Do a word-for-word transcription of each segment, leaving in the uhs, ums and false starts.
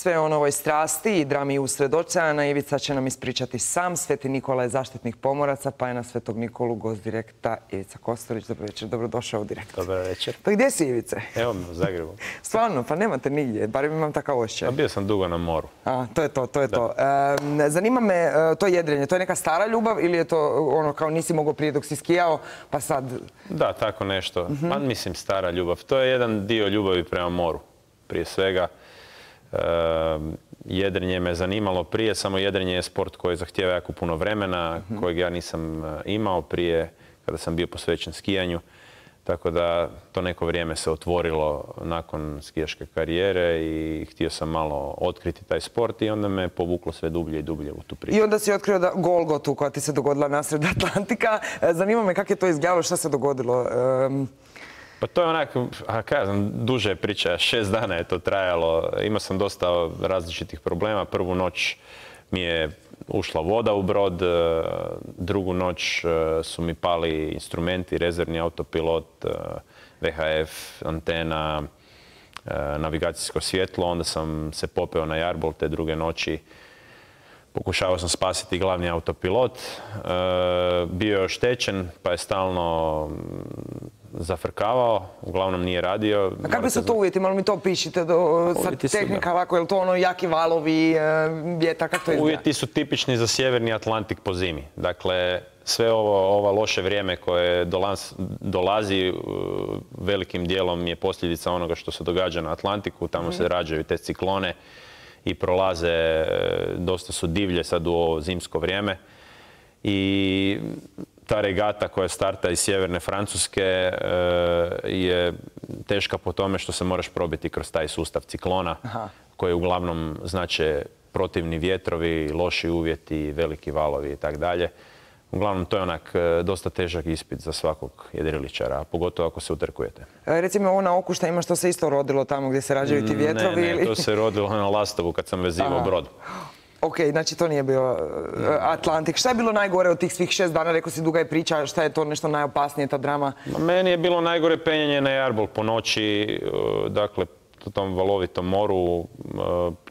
sve o novoj strasti i drami usred oceana. Ivica će nam ispričati sam. Sveti Nikola je zaštitnik pomoraca, pa je na Svetog Nikolu gost Direkta Ivica Kostelić. Dobro večer, dobrodošao u Direkt. Dobar večer. Pa gdje si, Ivice? Evo u Zagrebu. Stvarno, pa nemate nigdje, barem imam takav osjećaj. A bio sam dugo na moru. A, to je to, to je to. E, zanima me, e, to jedrenje, to je neka stara ljubav ili je to ono kao nisi mogao prije dok si skijao, pa sad... Da, tako nešto. Uh-huh. Pa mislim stara ljubav. To je jedan dio ljubavi prema moru. Prije svega, e, jedrenje me zanimalo prije, samo jedrenje je sport koji zahtijeva jako puno vremena, uh-huh. kojeg ja nisam imao prije kada sam bio posvećen skijanju. Tako da to neko vrijeme se otvorilo nakon skijaške karijere i htio sam malo otkriti taj sport i onda me povuklo sve dublje i dublje u tu priču. I onda si otkrio da Golgotu koja ti se dogodila nasred Atlantika. Zanima me kako je to izgledalo, šta se dogodilo? Um... Pa to je onak, a kaj znam, duže je priča, šest dana je to trajalo. Imao sam dosta različitih problema. Prvu noć mi je ušla voda u brod, drugu noć su mi pali instrumenti, rezervni autopilot, V H F, antena, navigacijsko svjetlo. Onda sam se popeo na jarbol te druge noći. Pokušavao sam spasiti glavni autopilot. Bio je oštećen pa je stalno zafrkavao, uglavnom nije radio. A kakvi su to uvjeti? Malo mi to pišite, do, sad tehnika ovako, je li to ono jaki valovi, vjetar, kako to izgleda? Uvjeti su tipični za sjeverni Atlantik po zimi. Dakle, sve ovo, ovo loše vrijeme koje dolaz, dolazi velikim dijelom je posljedica onoga što se događa na Atlantiku. Tamo mm. se rađaju te ciklone i prolaze, dosta su divlje sad u ovo zimsko vrijeme. I ta regata koja starta iz sjeverne Francuske je teška po tome što se moraš probiti kroz taj sustav ciklona. Aha. Koji uglavnom znače protivni vjetrovi, loši uvjeti, veliki valovi i tako dalje. Uglavnom, to je onak dosta težak ispit za svakog jedriličara, a pogotovo ako se utrkujete. E, recimo ovo na Okuštajima što se isto rodilo tamo gdje se rađaju ti vjetrovi? Ne, ne, ili... to se rodilo na Lastovu kad sam vezivao brod. Ok, znači to nije bio Atlantik. Šta je bilo najgore od tih svih šest dana? Rekao si, duga je priča, šta je to nešto najopasnije, ta drama? Meni je bilo najgore penjanje na jarbol po noći, dakle, u tom valovitom moru.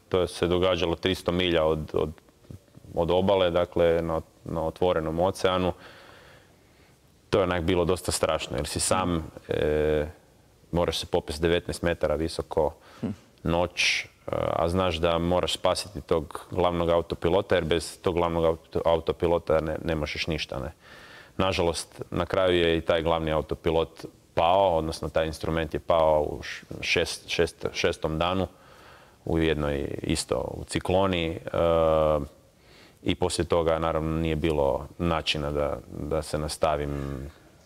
To se događalo tristo milja od, od, od obale, dakle, na, na otvorenom oceanu. To je onak bilo dosta strašno, jer si sam, e, moraš se popesti devetnaest metara visoko, noć, a znaš da moraš spasiti tog glavnog autopilota, jer bez tog glavnog autopilota ne, ne možeš ništa. Ne. Nažalost, na kraju je i taj glavni autopilot pao, odnosno taj instrument je pao u šest, šest, šestom danu, u jednoj isto u cikloni. E, I poslije toga, naravno, nije bilo načina da, da se nastavim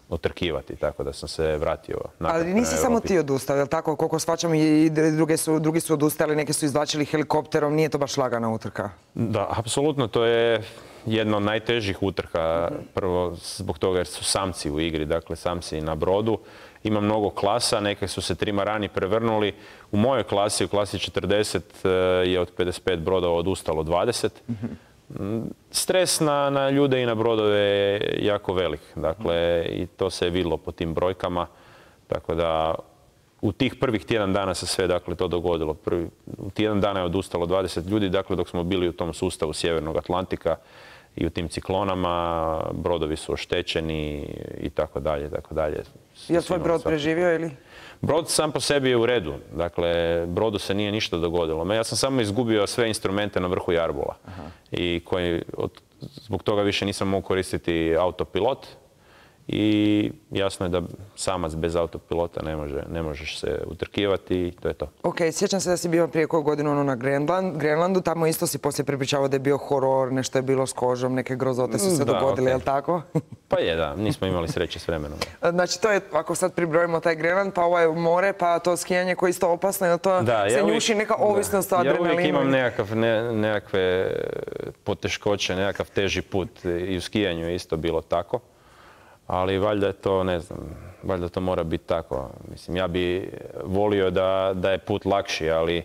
utrkivati, tako da sam se vratio natrag. Ali nisi samo ti odustao, je li tako? Koliko shvaćam i druge su, drugi su odustali, neki su izvlačili helikopterom, nije to baš lagana utrka. Da, apsolutno, to je jedna od najtežih utrka. Prvo zbog toga jer su samci u igri, dakle samci na brodu. Ima mnogo klasa, neke su se trimarani prevrnuli. U mojoj klasi, u klasi četrdeset, je od pedeset pet brodova odustalo dvadeset. Stres na, na ljude i na brodove je jako velik. Dakle, i to se je vidjelo po tim brojkama. Tako da u tih prvih tjedan dana se sve dakle, to dogodilo. Prvi, u tjedan dana je odustalo dvadeset ljudi, dakle, dok smo bili u tom sustavu Sjevernog Atlantika i u tim ciklonama, brodovi su oštećeni i tako dalje, tako dalje. Je li tvoj brod preživio ili? Brod sam po sebi je u redu. Dakle, brodu se nije ništa dogodilo. Ja sam samo izgubio sve instrumente na vrhu jarbola. Aha. I koji, od, zbog toga više nisam mogao koristiti autopilot. I jasno je da samac bez autopilota ne, može, ne možeš se utrkivati i to je to. Ok, sjećam se da si bio prije koju godinu ono na Grenland, Grenlandu, tamo isto si poslije prepričavao da je bio horor, nešto je bilo s kožom, neke grozote su se da, dogodile, okay. Je li tako? Pa je, da, nismo imali sreće s vremenom. Znači to je, ako sad pribrojimo taj Grenland, pa ovo je more, pa to skijanje koje je isto opasno, je to da, se ja njuši neka ovisnost o adrenalinu? Ja uvijek imam nekakav, ne, nekakve poteškoće, nekakav teži put i u skijanju je isto bilo tako. Ali valjda je to, ne znam, valjda to mora biti tako. Mislim, ja bi volio da, da je put lakši, ali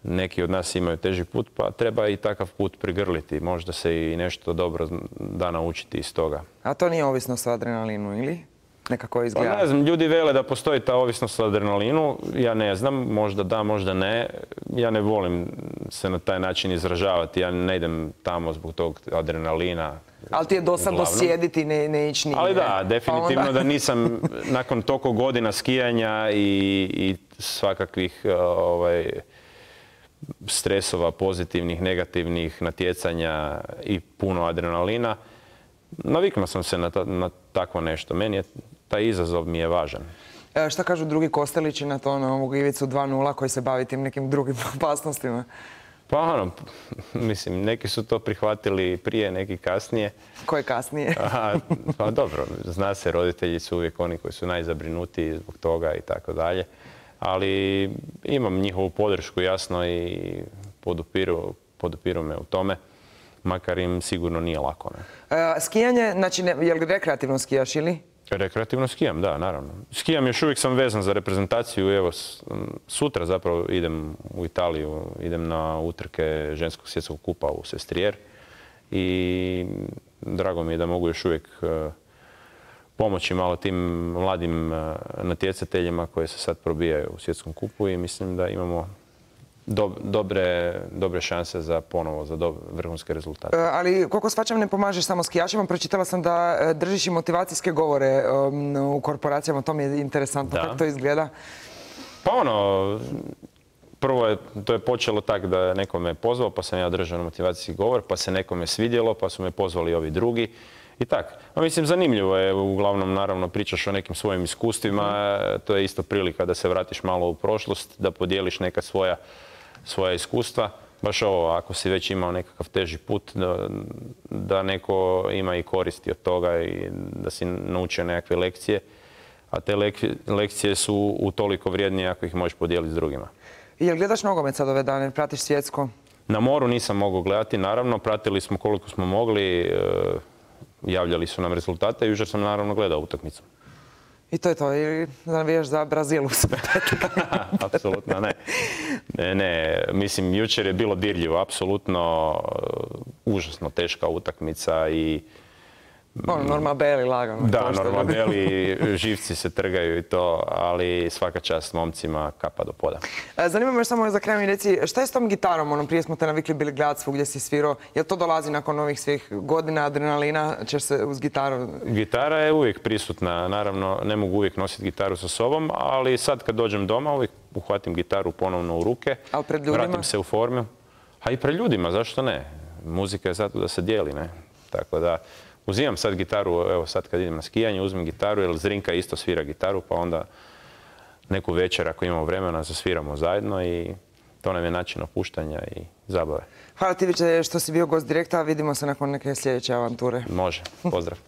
neki od nas imaju teži put, pa treba i takav put prigrliti. Možda se i nešto dobro da naučiti iz toga. A to nije ovisnost o adrenalinu, ili? nekako izgleda? Pa ne znam, ljudi vele da postoji ta ovisnost o adrenalinu. Ja ne znam, možda da, možda ne. Ja ne volim se na taj način izražavati. Ja ne idem tamo zbog tog adrenalina. Ali ti je dosadno sjediti, ne, ne ići nigdje. Ali da, definitivno onda... da nisam nakon toliko godina skijanja i, i svakakvih ovaj, stresova, pozitivnih, negativnih, natjecanja i puno adrenalina, naviknuo sam se na, ta, na takvo nešto. Meni je, taj izazov mi je važan. E, šta kažu drugi Kostelići na to, na ovog Ivicu dva nula koji se bavi tim nekim drugim opasnostima? Pa ono, mislim, neki su to prihvatili prije, neki kasnije. Koje kasnije? Aha, pa dobro, zna se, roditelji su uvijek oni koji su najzabrinutiji zbog toga i tako dalje. Ali imam njihovu podršku, jasno, i podupiru, podupiru me u tome. Makar im sigurno nije lako. Ne? E, skijanje, znači, ne, je li rekreativno skijaš ili? Rekreativno skijam, da, naravno. Skijam, još uvijek sam vezan za reprezentaciju. Evo, sutra zapravo idem u Italiju, idem na utrke ženskog svjetskog kupa u Sestriere. I drago mi je da mogu još uvijek pomoći malo tim mladim natjecateljima koji se sad probijaju u svjetskom kupu i mislim da imamo Dobre, dobre šanse za ponovo, za dob, vrhunske rezultate. E, ali koliko shvaćam ne pomažeš samo skijačima, pročitala sam da držiš i motivacijske govore um, u korporacijama, to mi je interesantno. Da. Kako to izgleda? Pa ono, prvo je, to je počelo tak da neko me pozvao, pa sam ja držao motivacijski govor, pa se nekome svidjelo, pa su me pozvali ovi drugi. I tak. A mislim, zanimljivo je, uglavnom, naravno, pričaš o nekim svojim iskustvima, to je isto prilika da se vratiš malo u prošlost, da podijeliš neka svoja svoja iskustva. Baš ovo, ako si već imao nekakav teži put, da, da neko ima i koristi od toga i da si naučio nekakve lekcije. A te lekcije su utoliko vrijednije ako ih možeš podijeliti s drugima. I jel gledaš nogomet sad ove dane? Pratiš svjetsko? Na moru nisam mogao gledati, naravno. Pratili smo koliko smo mogli. Javljali su nam rezultate i jučer sam naravno gledao utakmicu. I to je to, ili navijaš za Brazilu? Apsolutno ne. ne. Ne, mislim, jučer je bilo dirljivo, apsolutno užasno teška utakmica i... Ono, Norma Beli lagano. Da, Norma Beli, živci se trgaju i to, ali svaka čast momcima, kapa do poda. Zanima me još samo za kraj mi reci, šta je s tom gitarom? Ono, prije smo te navikli bili gledati svugdje si svirao. Jel to dolazi nakon ovih svih godina adrenalina? Ćeš se uz gitaru... Gitara je uvijek prisutna. Naravno, ne mogu uvijek nositi gitaru sa sobom, ali sad kad dođem doma, uvijek uhvatim gitaru ponovno u ruke. Ali pred ljudima? Vratim se u formu. A i pred ljudima, zašto ne? Muzika je zato da se dijeli, ne? Tako da... Uzimam sad gitaru, evo sad kad idem na skijanje, uzmem gitaru jer Zrinka isto svira gitaru, pa onda neku večer ako imamo vremena zasviramo zajedno i to nam je način opuštanja i zabave. Hvala ti Ivice što si bio gost Direkta, vidimo se nakon neke sljedeće avanture. Može, pozdrav.